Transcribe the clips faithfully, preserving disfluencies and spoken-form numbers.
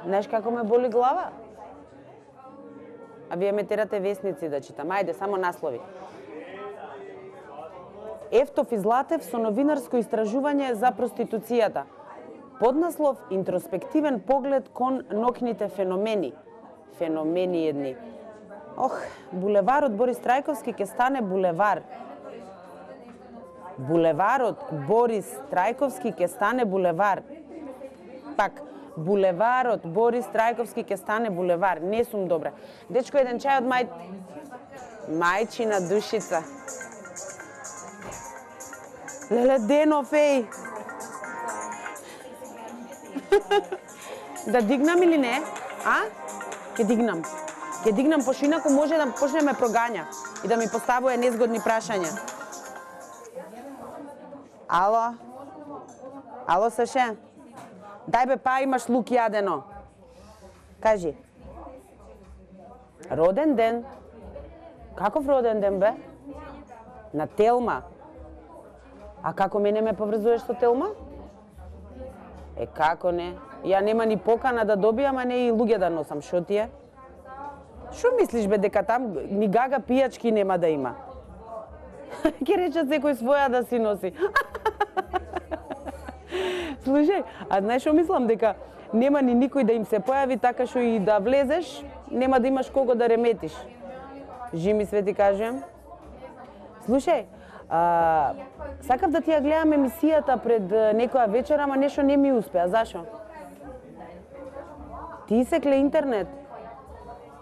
Знаеш како ме боли глава? А вие ме терате весници да читам. Ајде, само наслови. Ефтов и Златев со новинарско истражување за проституцијата. Поднаслов интроспективен поглед кон ноќните феномени. Феномени едни. Ох, булеварот Борис Трајковски ќе стане булевар. Булеварот Борис Трајковски ќе стане булевар. Пак, булеварот Борис Трајковски ќе стане булевар. Не сум добра. Дечко, еден чај од мај... мајчина душица. Леле, Денов, еј! Да дигнам или не? А? Ке дигнам. Ке дигнам, пошто инаку може да почне ме прогања и да ми поставува незгодни прашања. Ало? Ало, Саше? Дај бе, па имаш лук јадено. Кажи. Роден ден? Каков роден ден, бе? На Телма? А како мене ме поврзуваш со Телма? Е, како не? Ја нема ни покана да добијам, а не и луѓе да носам. Шо ти е? Шо мислиш, бе, дека там ни гага пијачки нема да има? Ке речат секој своја да си носи. Слушај, а знаеш шо мислам, дека нема ни никој да им се појави, така што и да влезеш, нема да имаш кого да реметиш. Жими све ти кажем. Слушај, а, сакав да ти ја гледам емисијата пред некоја вечер, ама нешто не ми успеа. Зашо? Ти исекле интернет?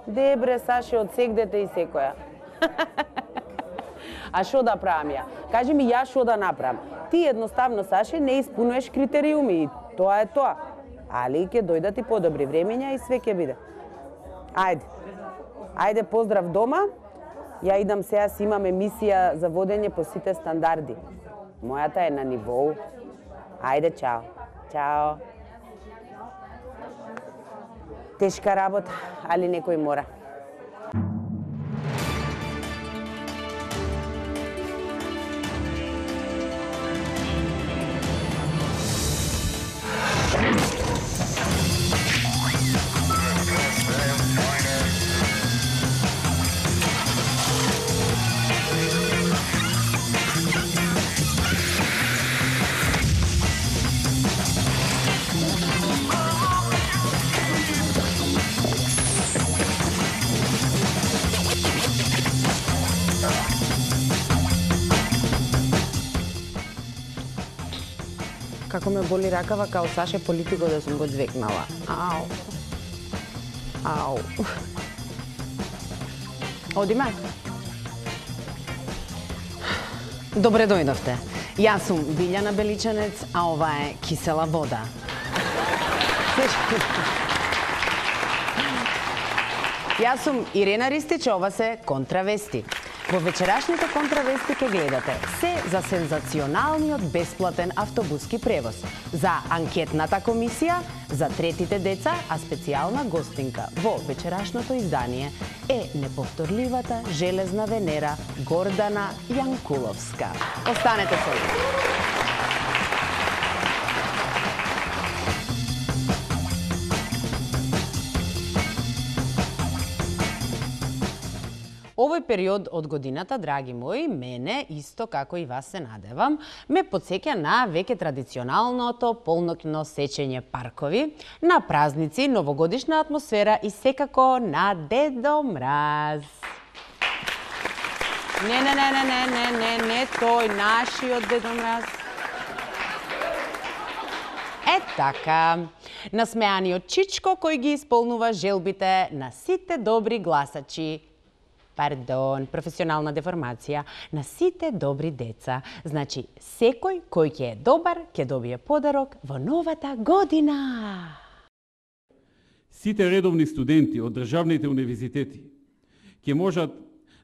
Дебре, Саше, одсегдете и секоја. А шо да правам ја? Кажи ми ја шо да направам. Ти едноставно, Саше, не испунуваш критериуми и тоа е тоа. Али ќе дојдат и подобри времења и све ќе биде. Ајде. Ајде, поздрав дома. Ја идам сега, си имам емисија за водење по сите стандарди. Мојата е на нивоу. Ајде, чао. Чао. Тешка работа, али некој мора. Како ме боли ракава, као Саше политико да сум го звекнала. Ау. Ау. Одиме? Добре дојдовте. Јас сум Билјана Беличанец, а ова е Кисела вода. Јас сум Ирена Ристич, ова се Контравести. Во вечерашните Контравести ке гледате се за сензационалниот бесплатен автобуски превоз, за анкетната комисија, за третите деца, а специјална гостинка во вечерашното издание е неповторливата железна Венера Гордана Јанкуловска. Останете со нас. Овој период од годината, драги мои, мене, исто како и вас се надевам, ме потсеќа на веќе традиционалното полноќно сечење паркови, на празници, новогодишна атмосфера и секако на Дедо Мраз. Не, не, не, не, не, не, не, не, тој нашиот Дедо Мраз. Е така, насмеаниот чичко кој ги исполнува желбите на сите добри гласачи. Пардон, професионална деформација, на сите добри деца. Значи, секој кој ќе е добар, ќе добие подарок во новата година. Сите редовни студенти од државните универзитети ќе можат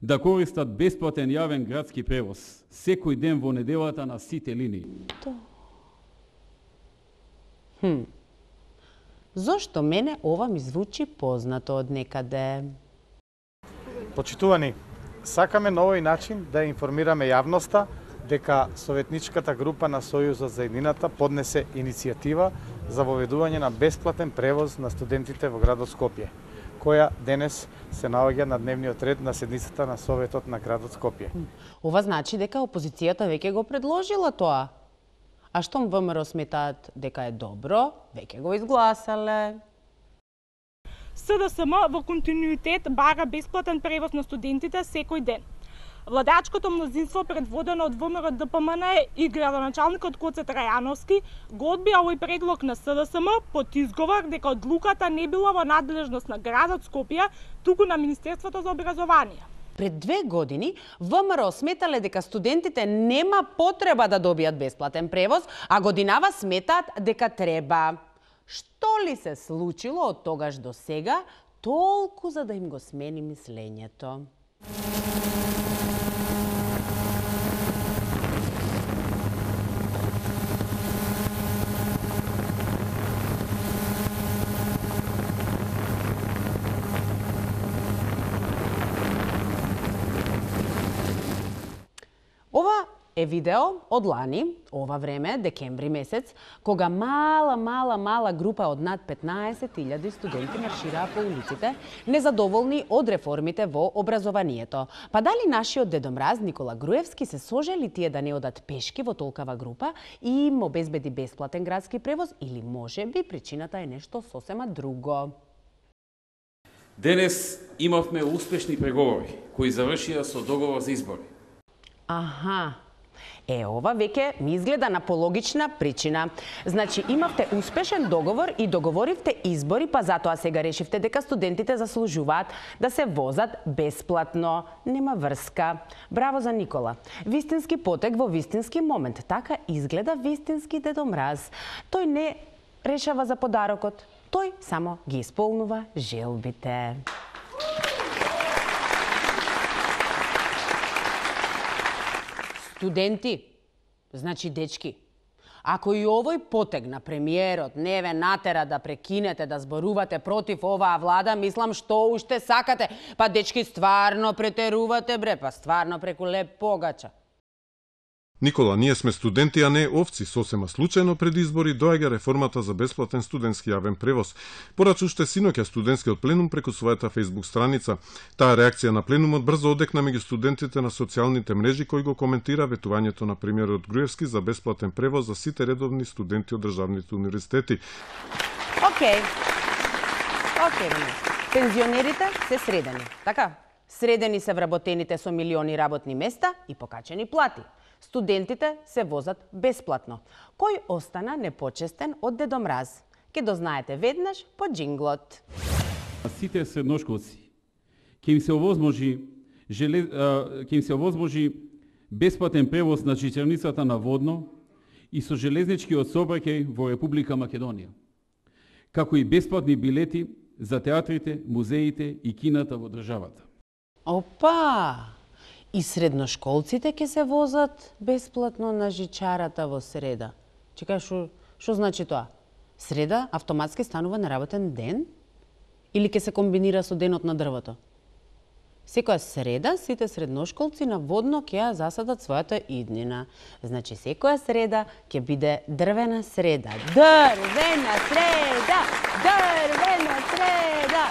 да користат бесплатен јавен градски превоз секој ден во неделата на сите линии. Хм. Зошто мене ова ми звучи познато од некаде? Почитувани, сакаме на овој начин да информираме јавноста дека Советничката група на Сојузот за еднината поднесе иницијатива за воведување на бесплатен превоз на студентите во градот Скопје, која денес се наоѓа на дневниот ред на седницата на Советот на градот Скопје. Ова значи дека опозицијата веќе го предложила тоа. А штом ВМРО сметаат дека е добро, веќе го изгласале. СДСМ во континуитет бара бесплатен превоз на студентите секој ден. Владачкото мнозинство предводено од ВМРО Д П М Н и градоначалникот Гоце Трајановски го одбија овој предлог на СДСМ под изговор дека одлуката не била во надлежност на градот Скопје, туку на Министерството за образование. Пред две години ВМРО сметале дека студентите нема потреба да добијат бесплатен превоз, а годинава сметаат дека треба. Што ли се случило од тогаш до сега, толку за да им го смени мислењето? Ова е видео од лани, ова време, декември месец, кога мала, мала, мала група од над петнаесет илјади студенти маршираа по улиците, незадоволни од реформите во образованието. Па дали нашиот Дедо Мраз Никола Груевски се сожели тие да не одат пешки во толкава група и им обезбеди бесплатен градски превоз, или може би причината е нешто сосема друго? Денес имавме успешни преговори кои завршија со договор за избори. Аха. Е, ова веќе ми изгледа на пологична причина. Значи, имавте успешен договор и договоривте избори, па затоа сега решивте дека студентите заслужуваат да се возат бесплатно. Нема врска. Браво за Никола. Вистински потек во вистински момент. Така изгледа вистински Дедо Мраз. Тој не решава за подарокот. Тој само ги исполнува желбите. Студенти, значи дечки, ако и овој потег на премиерот не ве натера да прекинете да зборувате против оваа влада, мислам што уште сакате. Па дечки, стварно претерувате бре, па стварно преку леп погача. Никола, ние сме студенти, а не овци. Сосема случајно пред избори доаѓа реформата за бесплатен студентски јавен превоз. Порачу уште синоќа студентскиот пленум преку својата фејсбук страница. Таа реакција на пленумот брзо одекна меѓу студентите на социјалните мрежи кои го коментира ветувањето на премиерот Груевски за бесплатен превоз за сите редовни студенти од државните универзитети. Океј. Океј, пензионерите се средени, така? Средени се вработените со милиони работни места и покачени плати. Студентите се возат бесплатно. Кој остана непочестен од Дедо Мраз? Ке дознаете веднаш по джинглот. Сите средношколци ќе им се овозможи желе... ќе им се овозможи бесплатен превоз на чичерницата на водно и со железничкиот сообраќај во Република Македонија, како и бесплатни билети за театрите, музеите и кината во државата. Опа! И средношколците ќе се возат бесплатно на жичарата во среда. Чекај, шо, шо значи тоа? Среда автоматски станува неработен ден? Или ќе се комбинира со денот на дрвото? Секоја среда сите средношколци на водно ќе ја засадат својата иднина. Значи секоја среда ќе биде дрвена среда. Дрвена среда! Дрвена среда!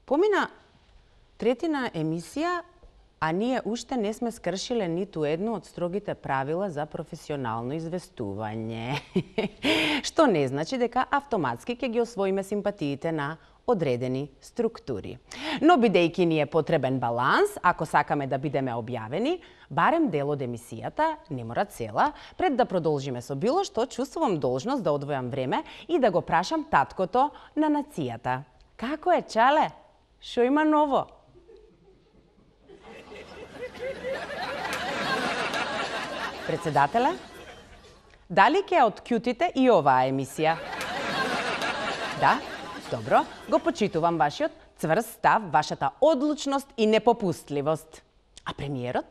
Помина третина емисија, а ние уште не сме скршиле ниту едно од строгите правила за професионално известување. Што не значи дека автоматски ќе ги освоиме симпатиите на одредени структури. Но бидејќи ни е потребен баланс, ако сакаме да бидеме објавени, барем дел од емисијата, не мора цела, пред да продолжиме со било што, чувствувам должност да одвојам време и да го прашам таткото на нацијата. Како е, чале? Шо има ново? Председателе, дали ќе откјутите и оваа емисија? Да? Добро, го почитувам вашиот цврст став, вашата одлучност и непопустливост. А премиерот?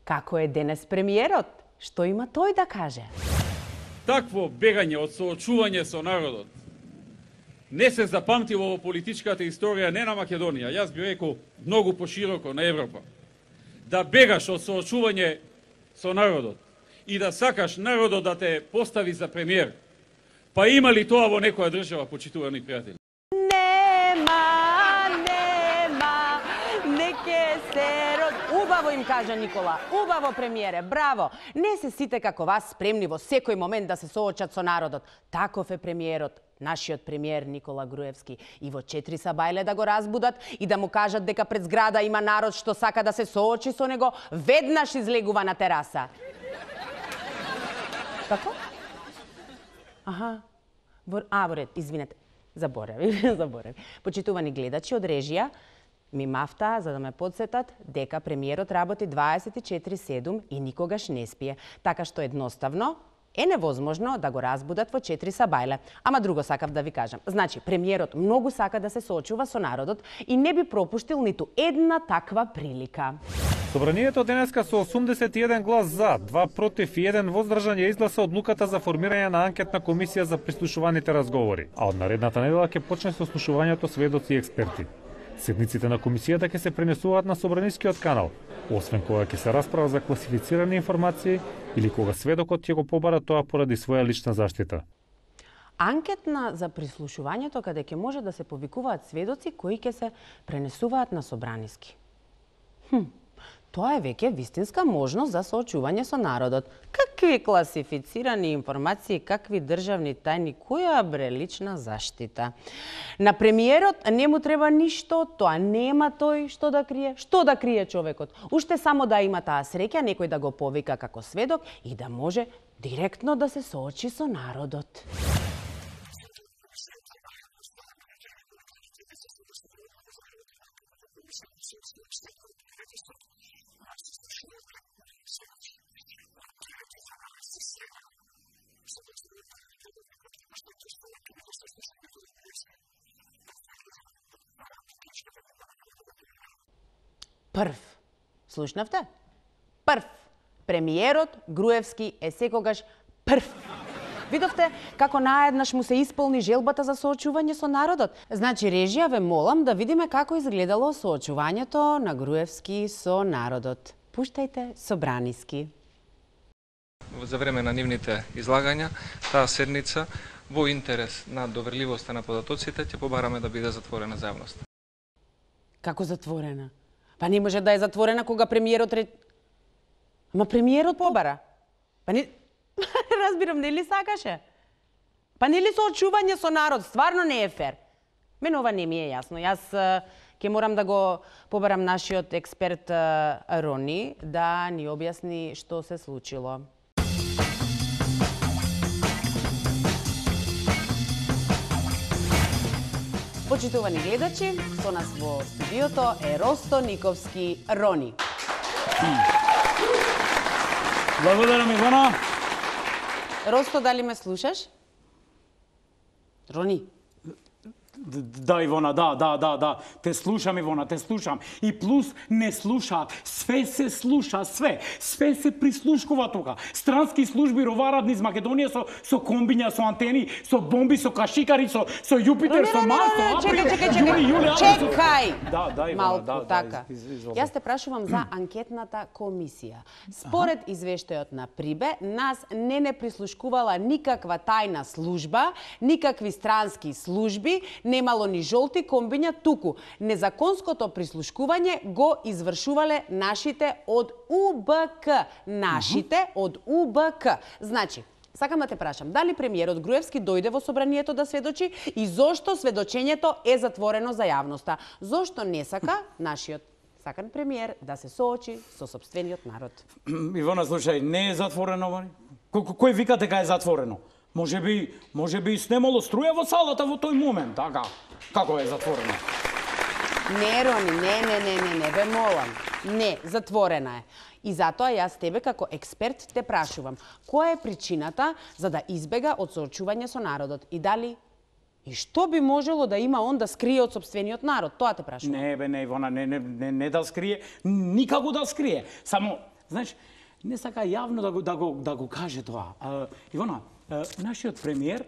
Како е денес премиерот? Што има тој да каже? Такво бегање од соочување со народот не се запамтило во политичката историја не на Македонија, јас би рекол многу пошироко на Европа. Да бегаш од соочување со народот и да сакаш народот да те постави за премиер. Па има ли тоа во некоја држава, почитувани пријатели? Нема, нема, неке се род... Убаво им кажа Никола, убаво премиере, браво. Не се сите како вас спремни во секој момент да се соочат со народот. Таков е премиерот, нашиот премиер Никола Груевски. И во четири сабајле да го разбудат и да му кажат дека пред зграда има народ што сака да се соочи со него, веднаш излегува на тераса. Како? Аха. А, во ред, извинете. Заборави, заборави. Почитувани гледачи од режија, ми мафта за да ме подсетат дека премиерот работи дваесет и четири седум и никогаш не спие. Така што едноставно е невозможно да го разбудат во четири сабајле. Ама друго сакав да ви кажам. Значи, премиерот многу сака да се соочува со народот и не би пропуштил ниту една таква прилика. Собранието денеска со осумдесет и еден глас за, два против и еден воздржан ја изгласа одлуката за формирање на анкетна комисија за прислушуваните разговори, а од наредната недела ќе почне со слушувањето сведоци и експерти. Седниците на комисијата ќе се пренесуваат на Собранискиот канал, освен кога ќе се расправа за класифицирани информации или кога сведокот ќе го побара тоа поради своја лична заштита. Анкетна за прислушувањето каде ќе може да се повикуваат сведоци кои ќе се пренесуваат на Собраниски. Хм. Тоа е веќе вистинска можност за соочување со народот. Какви класифицирани информации, какви државни тајни, која бре лична заштита. На премиерот не му треба ништо, тоа нема тој што да крие. Што да крие човекот? Уште само да има таа среќа некој да го повика како сведок и да може директно да се соочи со народот. Прв. Слушнавте? Прв. Премиерот Груевски е секогаш прв. Видовте како наеднаш му се исполни желбата за соочување со народот? Значи, режија, ве молам да видиме како изгледало соочувањето на Груевски со народот. Пуштајте Собраниски. За време на нивните излагања, таа седница во интерес на доверливоста на податоците ќе побараме да биде затворена за јавност. Како затворена? Па не може да е затворена кога премиерот ре... Ама премиерот побара. Па не... Разбирам, нели сакаше? Па нели соочување со народ стварно не е фер? Мене ова не ми е јасно. Јас ќе морам да го побарам нашиот експерт Рони да ни објасни што се случило. Почитувани гледачи, со нас во студиото е Росто Никовски Рони. Благодарам, Ивана. Росто, дали ме слушаш? Рони. Да, Ивона, да, да, да, да. Те слушам, Ивона, те слушам. И плюс не слушаат. Све се слуша, све. Све се прислушкува тука. Странски служби роварат низ Македонија со со комбиња, со антени, со бомби, со кашикари, со со Јупитер, со Марс, со Април, Јули, Јули, чекај. Да, да, Ивона, малку да, така. Да, из, из, из, Јас те прашувам за анкетната комисија. Според извештајот на Прибе, нас не не прислушкувала никаква тајна служба, никакви странски служби, немало ни жолти комбиња, туку незаконското прислушкување го извршувале нашите од У Б К. Нашите од У Б К. Значи, сакам да те прашам, дали премиерот Груевски дојде во собранието да сведочи и зошто сведочењето е затворено за јавноста? Зошто не сака нашиот сакан премиер да се соочи со сопствениот народ? Ивона, слушај, не е затворено. Кој вика дека е затворено? Може би, може би снемало струја во салата во тој момент, така? Како е затворено? Не, Рони, не, не, не, не, не, ве молам. Не, затворена е. И затоа јас тебе како експерт те прашувам, која е причината за да избега од соочување со народот и дали и што би можело да има он да скрие од сопствениот народ? Тоа те прашувам. Не, бе, не, Ивона, не, не, не, не да скрие, никако да скрие. Само, знаеш, не сака јавно да го, да го, да го каже тоа. А, Ивона, нашиот премиер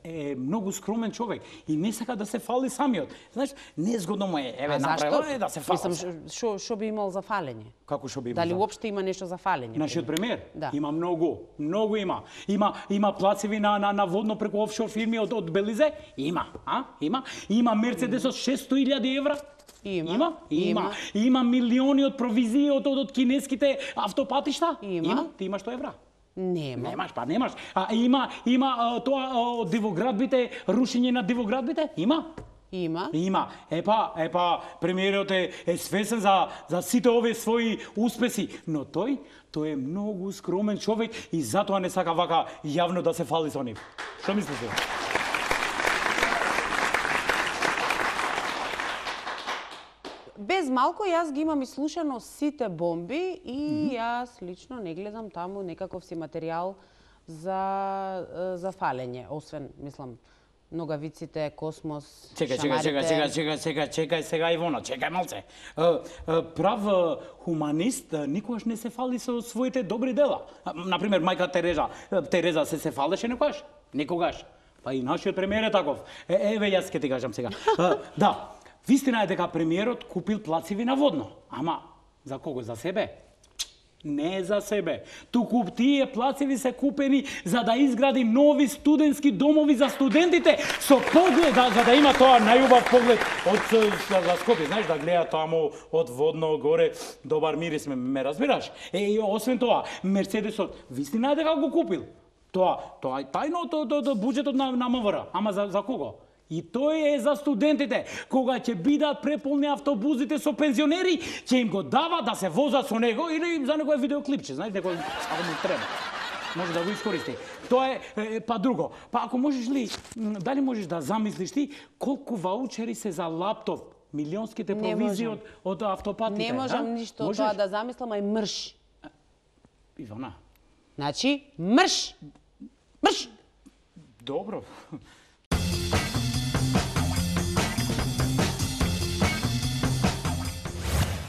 е многу скромен човек и не сака да се фали самиот. Знаеш, незгодно му е, еве направо е да се фали. Мислам, што што би имал за фалење? Како што би имал? Дали уопште има нешто за фалење? Нашиот премиер? Да. Има многу, многу има. Има има плацеви на на, на водно преку офшор фирми од од Белизе? Има, а? Има. Има Мерцедес од шесто илјади евра? Има. Има? Има. Има. Има милиони од провизии од од, од кинеските автопатишта? Има. Има. Ти имаш сто евра? Нема. Немаш, па немаш. А има има а, тоа а, дивоградбите, рушење на дивоградбите? Има. Има. Има. Епа, епа, премиерот е, е свесен за, за сите овие своји успеси, но тој, тој е многу скромен човек и затоа не сака вака јавно да се фали со нив. Што мислите? Без малку јас ги имам ислушано сите бомби и mm -hmm. јас лично не гледам таму некаков си материјал за за фалење, освен, мислам, ногавиците, космос, чекај, шамарите... Чекај, чекај, чекај, чекај, чекај сега Ивона, чекај малце. Прав хуманист никогаш не се фали со своите добри дела. Например, мајка Тереза, Тереза се се фалеше некогаш? Никогаш. Па и нашиот премиер е таков. Е, еве јас ќе ти кажам сега. Да, вистина е дека премиерот купил плацеви на водно. Ама, за кого? За себе? Не за себе. Туку тие плацеви се купени за да изгради нови студентски домови за студентите со поглед, да, за да има тоа најубав поглед од за Скопје. Знаеш, да гледа таму од водно горе, добар мирис, ме, ме разбираш? Е, и освен тоа, Мерцедесот, вистина е дека го купил. Тоа, тоа е тајно од, од, од буџетот на, на МВР. Ама за, за кого? И тој е за студентите. Кога ќе бидат преполни автобусите со пензионери, ќе им го дава да се возат со него или за некој видеоклипче, знаеш, некој ако му треба. Може да го искористи. Тоа е, е па друго. Па ако можеш ли, дали можеш да замислиш ти колку ваучери се за лаптоп, милионските провизии од, од автопатите? Не можам а? ништо можеш? Тоа да замислам, ај мрш. Ивана. Значи, мрш! Мрш! Добро.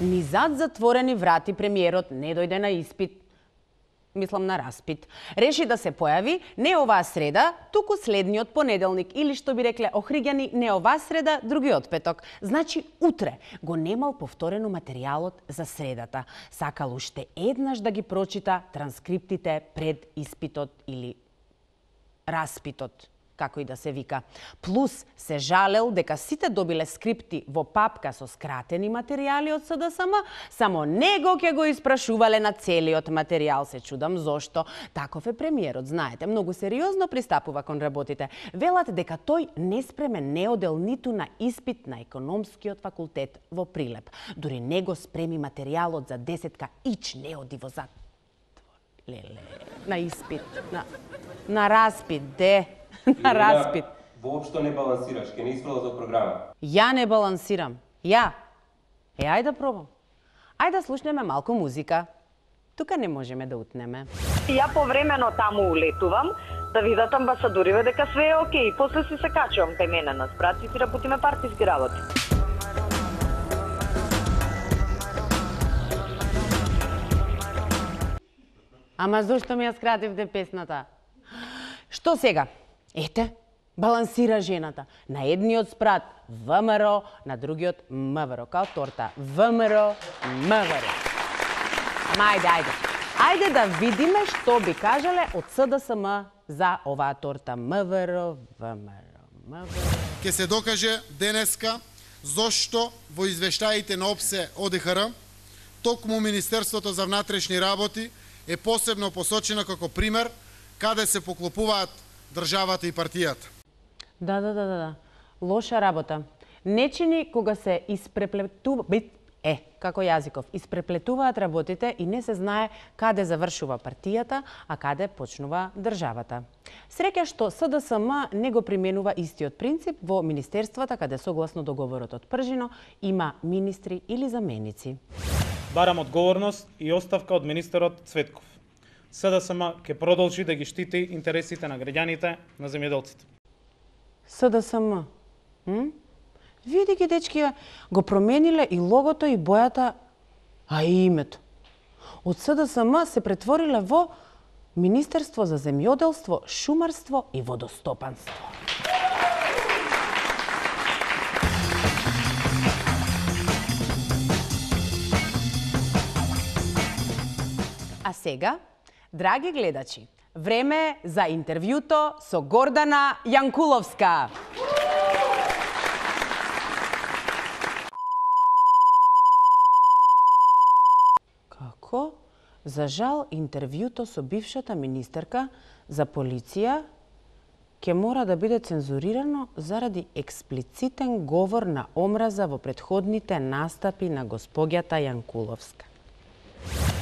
Ни зад затворени врати премиерот не дојде на испит, мислам на распит. Реши да се појави не оваа среда, туку следниот понеделник, или што би рекле охриѓани, не оваа среда, другиот петок. Значи утре го немал повторено материјалот за средата. Сакал уште еднаш да ги прочита транскриптите пред испитот или распитот, како и да се вика. Плюс се жалел дека сите добиле скрипти во папка со скратени материјали од СДСМ, само него ќе го испрашувале на целиот материјал. Се чудам зошто. Таков е премиерот, знаете, многу сериозно пристапува кон работите. Велат дека тој неспремен не одел ниту на испит на економскиот факултет во Прилеп. Дури не го спреми материјалот за десетка, ич не оди во затвор. Леле, на испит, на, на распит, де. На распит. Воопшто не балансираш, ке не испрала за програма. Ја не балансирам. Ја. Е, ајде да пробам. Ајде да слушнеме малку музика. Тука не можеме да утнеме. Ја повремено таму улетувам, да видат амбасадориве дека све е окей. После си се качувам кај мене на спрат и си работиме партиски работи. Ама зошто ми ја скративте песната? Што сега? Ете, балансира жената. На едниот спрат ВМРО, на другиот МВР, као торта. ВМРО, МВР. Ама ајде, ајде. Ајде да видиме што би кажале од СДСМ за оваа торта. МВР, ВМРО, МВР. Ке се докаже денеска зошто во извештаите на ОПСЕ ОДХР токму Министерството за внатрешни работи е посебно посочено како пример каде се поклопуваат државата и партијата. Да, да, да, да. Лоша работа. Не чини кога се испреплетува... Е, како јазиков, испреплетуваат работите и не се знае каде завршува партијата, а каде почнува државата. Среќа што СДСМ не го применува истиот принцип во министерствата каде согласно договорот од Пржино има министри или заменици. Барам одговорност и оставка од министерот Цветков. СДСМ ќе продолжи да ги штити интересите на граѓаните, на земјоделците. СДСМ? М? Види ги, дечки, го промениле и логото и бојата, а и името. Од СДСМ се претвориле во Министерство за земјоделство, шумарство и водостопанство. А сега, драги гледачи, време за интервјуто со Гордана Јанкуловска. Како? За жал, интервјуто со бившата министерка за полиција ќе мора да биде цензурирано заради експлицитен говор на омраза во претходните настапи на госпоѓата Јанкуловска.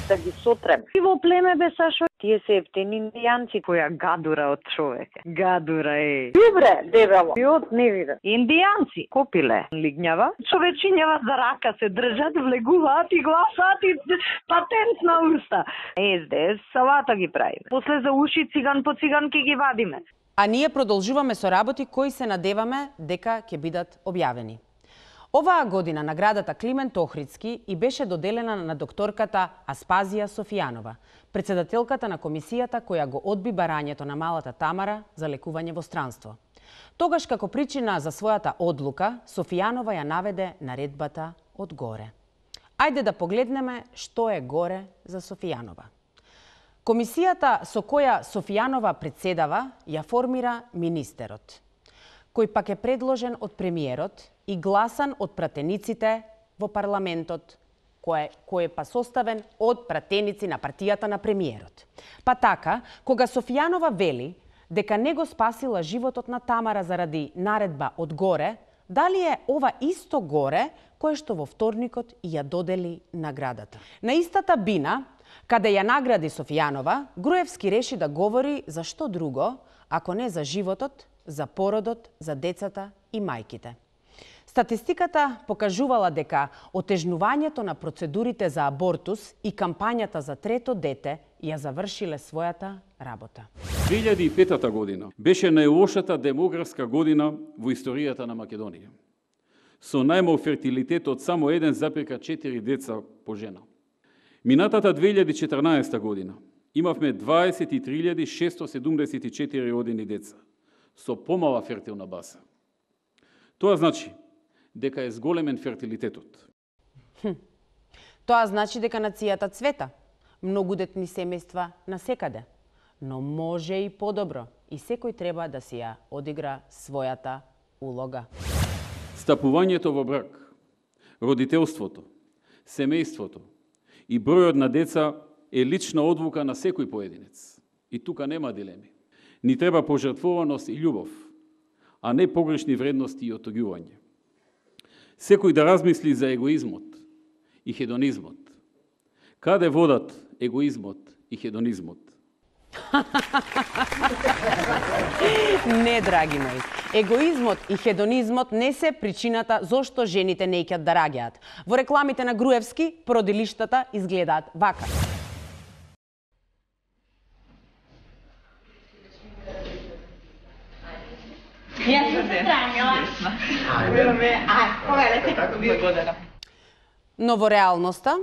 Да ги сотрем. И во племе бе, Сашо, тие се ефтени индијанци, која гадура од човека. Гадура е. Добре, дебело. Јот не виде. Индијанци, копиле, лигњава, човечињава за рака се држат, влегуваат и гласат и патент на уста. Ес Де Ес салата ги правиме. После за уши циган по циган ке ги вадиме. А ние продолжуваме со работи кои се надеваме дека ќе бидат објавени. Оваа година наградата Климент Охридски и беше доделена на докторката Аспазија Софијанова, председателката на комисијата која го одби барањето на малата Тамара за лекување во странство. Тогаш како причина за својата одлука, Софијанова ја наведе наредбата од горе. Ајде да погледнеме што е горе за Софијанова. Комисијата со која Софијанова председава ја формира министерот, кој пак е предложен од премиерот и гласан од пратениците во парламентот, кој, кој е па составен од пратеници на партијата на премиерот. Па така, кога Софијанова вели дека не го спасила животот на Тамара заради наредба од горе, дали е ова исто горе кое што во вторникот и ја додели наградата? На истата бина, каде ја награди Софијанова, Груевски реши да говори за што друго, ако не за животот, за породот, за децата и мајките. Статистиката покажувала дека отежнувањето на процедурите за абортус и кампањата за трето дете ја завршиле својата работа. две илјади и пета година беше најлошата демографска година во историјата на Македонија, со најмал фертилитет од само еден запирка четири деца по жена. Минатата две илјади и четрнаесета година имавме дваесет и три илјади шестsto седумдесет и четири родени деца, со помала фертилна база. Тоа значи дека е зголемен фертилитетот. Хм. Тоа значи дека нацијата цвета, многу детни семејства насекаде, но може и подобро и секој треба да си ја одигра својата улога. Стапувањето во брак, родителството, семејството и бројот на деца е лична одлука на секој поединец. И тука нема дилеми. Ни треба пожртвуваност и љубов, а не погрешни вредности и отогјување. Секој да размисли за егоизмот и хедонизмот. Каде водат егоизмот и хедонизмот? Не, драги мои. Егоизмот и хедонизмот не се причината зошто жените не ќат да раѓаат. Во рекламите на Груевски, породилиштата изгледаат вака. Но во реалноста,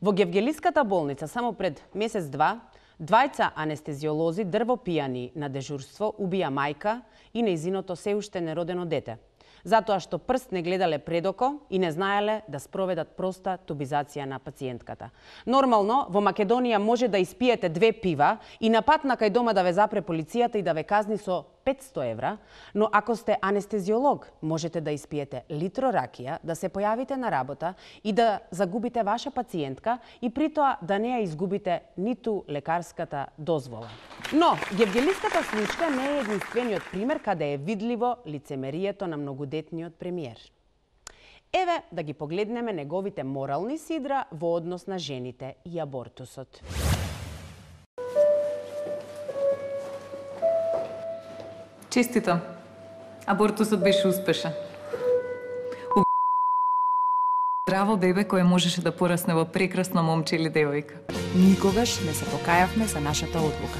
во Гевгелиската болница само пред месец-два, двајца анестезиолози дрвопијани на дежурство убија мајка и нејзиното се уште неродено дете, затоа што прст не гледале предоко и не знаеле да спроведат проста тубизација на пациентката. Нормално, во Македонија може да испиете две пива и на пат на кај дома да ве запре полицијата и да ве казни со петсто евра, но ако сте анестезиолог, можете да испиете литро ракија, да се појавите на работа и да загубите ваша пациентка и при тоа да не ја изгубите ниту лекарската дозвола. Но, Гевгелиската случка не е единствениот пример каде е видливо лицемерието на многодетниот премиер. Еве да ги погледнеме неговите морални сидра во однос на жените и абортусот. Честито. Абортусот беше успешен. У... Здраво бебе кое можеше да порасне во прекрасно момче или девојка. Никогаш не се покајавме за нашата одлука.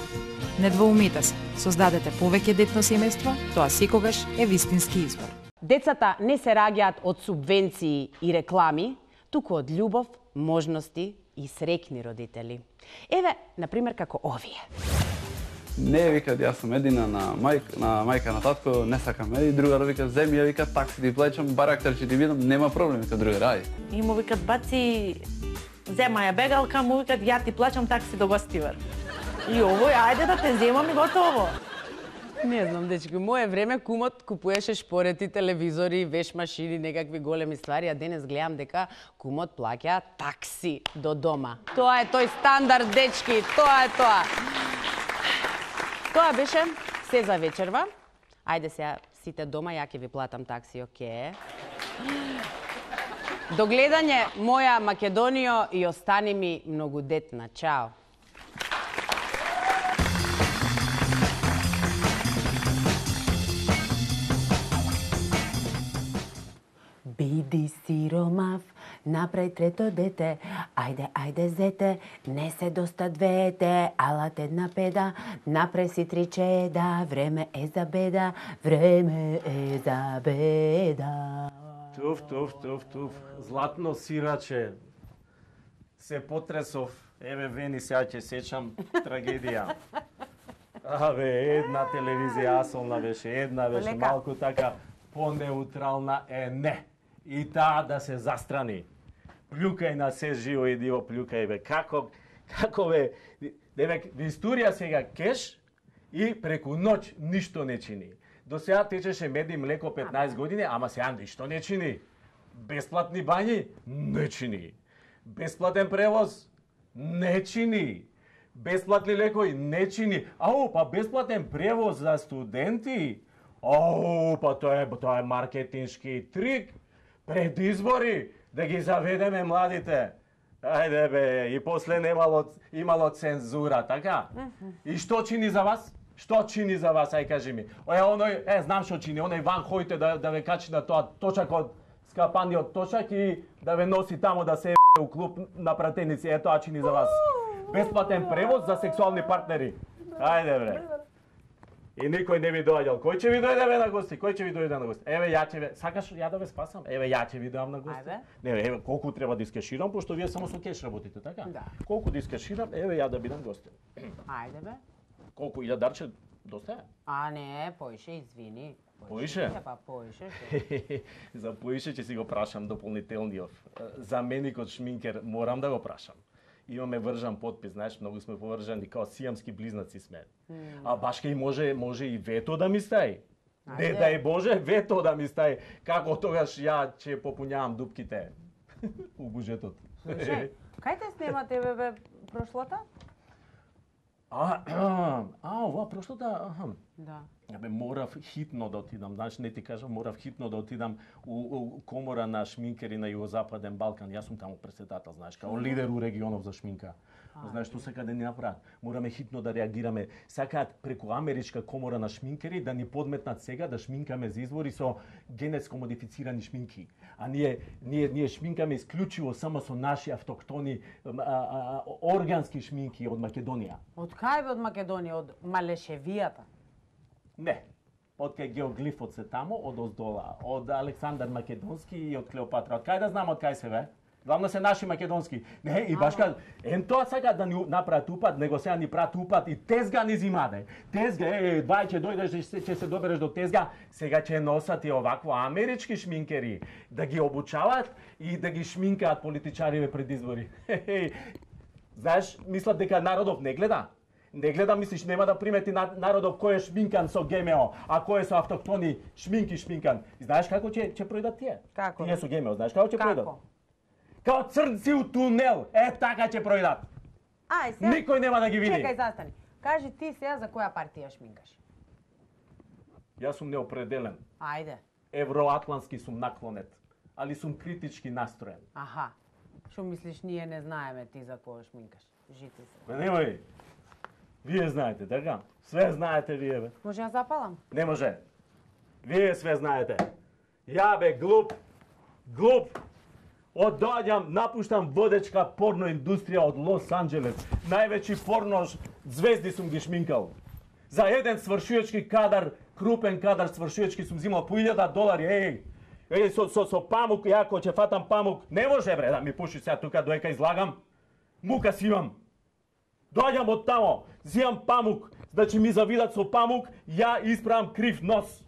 Не двоумете се, создадете повеќе детно семејство, тоа секогаш е вистински избор. Децата не се раѓаат од субвенции и реклами, туку од љубов, можности и среќни родители. Еве, например, како овие. Не, вика, јас сум едина на мајка, на мајка на татко, не сакам. И другар вика, земи ја, вика, такси ти плаќам, барактер ќе ти видам, нема проблем, вика, другар, ај. И му викат, баци, зема ја бегалка, му викат, ја ти плаќам такси до гостивар. И овој, ајде да те земам и готово. Не знам, дечки, моје време кумот купуеше шпорети, телевизори, веш машини, некакви големи ствари, а денес гледам дека кумот плаќа такси до дома. Тоа е тој стандард, дечки, тоа е тоа. Тоа беше се за вечерва. Ајде сега сите дома, ја ќе ви платам такси, оке. До гледање, моја Македонијо, и остани ми многу детна. Чао. Биди сиромав, направи трето дете, ајде, ајде зете, не се доста двете, алат една педа, направи си три чеда, време е за беда, време е за беда. Туф, туф, туф, туф, златно сираче, се потресов, еве Вени, сега ќе сечам трагедија. Абе, една телевизија асолна беше, една беше, малку така понеутрална е, не. И таа да се застрани. Плюкај на се живо и диво, плюкај бе. Како, како бе, деве, историја сега кеш и преку ноќ ништо не чини. До сега течеше мед и млеко петнаесет години, ама сега ништо не чини. Бесплатни бањи не чини. Бесплатен превоз не чини. Бесплатни лекови не чини. Ау, па бесплатен превоз за студенти? Ау, па тоа е, тоа е маркетиншки трик. Пред избори да ги заведеме младите. Ајде бе, и после немало, имало цензура, така? И што чини за вас? Што чини за вас, ај кажи ми. Е, оној, е, знам што чини, оној Ван Хојте да, да ве качи на тоа точак од скапаниот точак и да ве носи тамо да се е у клуб на пратеници, е тоа чини за вас. Бесплатен превоз за сексуални партнери. Ајде бре. И никој не ви доаѓал. Кој ќе ви дојде бе на гости? Кој ќе ви дојде на гости? Еве ја ќе ве, сакаш ја да ве спасам? Еве ја ќе ви доам на гости. Ајде. Не, еве колку треба да искеширам, пошто вие само со кеш работите, така? Да. Колку да искеширам, еве ја да бидам гостин. Ајде бе. Колку илјадарче доста е? А не, поише, извини. Поише? Па поише. За поише ќе си го прашам дополнителниот. Заменикот шминкер морам да го прашам. Имаме вржан подпис, знаеш, многу сме повржани, као сијамски близнаци сме. Mm. А башка и може, може и вето да ми стаи. Не дај Боже, вето да ми стаи. Како тогаш ја ќе попуњавам дупките у буџетот. Слушај, кај те снимате бе, бе прошлата? А, а, ова прошлата, аха. Да. Абе, морав хитно да отидам, знаеш, не ти кажам, морав хитно да отидам у, у комора на шминкери на Југозападен Балкан. Јас сум таму председател, знаеш, као лидер у регионов за шминка. А, знаеш што сака да ни направат? Мораме хитно да реагираме. Сакаат преку Америчка комора на шминкери да ни подметнат сега да шминкаме за избори со генетско модифицирани шминки. А ние ние ние шминкаме исклучиво само со наши автоктони а, а, органски шминки од Македонија. Од кај бе од Македонија? Од Малешевијата? Не. Од кај геоглифот се тамо, од оздола, од Александар Македонски и од Клеопатра. Од кај да знам од кај се бе? Главно се наши македонски. Не, и башка, ен тоа сака да ни направат упат, него сега ни прават упат и тезга ни зимаде. Тезга, е, двај ќе дојдеш, ќе се добереш до тезга, сега ќе носат и овакво амерички шминкери, да ги обучават и да ги шминкаат политичариве пред избори. Знаеш, мислат дека народов не гледа? Не гледа, мислиш, нема да примети народов кој е шминкан со ГМО, а кој е со автоктони шминки шминкан. И знаеш како ќе ќе пројдат тие? Како? Тие со ГМО, знаеш како ќе пројдат? Како? Као црнци у тунел, е така ќе пројдат. Ај, сега... Никој нема да ги види. Чекај, застани. Кажи ти сега за која партија шминкаш? Јас сум неопределен. Ајде. Евроатлански сум наклонет, али сум критички настроен. Аха. Што мислиш, ние не знаеме ти за која шминкаш? Жити се. Ме немој. Вие знаете, така? Све знаете вие, бе. Може ја запалам? Не може. Вие све знаете. Ја бе глуп, глуп. Одоаѓам, напуштам водечка порно индустрија од Лос Анџелес. Највеќи порно звезди сум ги шминкал. За еден свршувачки кадар, крупен кадар свршувачки сум зимал по илјада долари. Еј, еј со со со памук, јако ќе фатам памук. Не може бре да ми пуши сега тука доека излагам. Мука си имам. Доаѓам од тамо, зимам памук, Значи ми завидат со памук, ја исправам крив нос.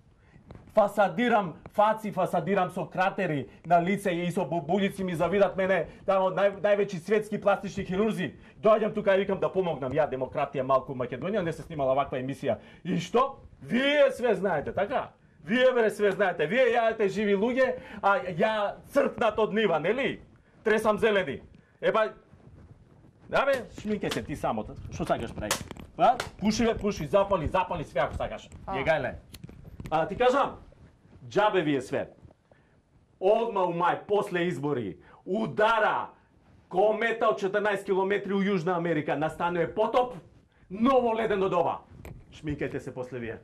Фасадирам фаци, фасадирам со кратери на лице и со бубулици ми завидат мене, тамо нај, највеći светски пластични хирурзи. Доаѓам тука и викам да помогнам, ја демократија малку у Македонија, не се снимала ваква емисија. И што? Вие све знаете, така? Вие бре све знаете, вие јадете живи луѓе, а ја црпнат од нива, нели? Тресам зелени. Епа, да бе, шминке се ти самото. Што сакаш прави? Па, пуши бе, пуши, запали, запали све ако сакаш. Јегајле. А ти кажам, џабе ви е све. Одма у мај, после избори, удара комета од четрнаесет километри у Јужна Америка, настанува потоп, ново ледено доба. Шминкајте се после вие.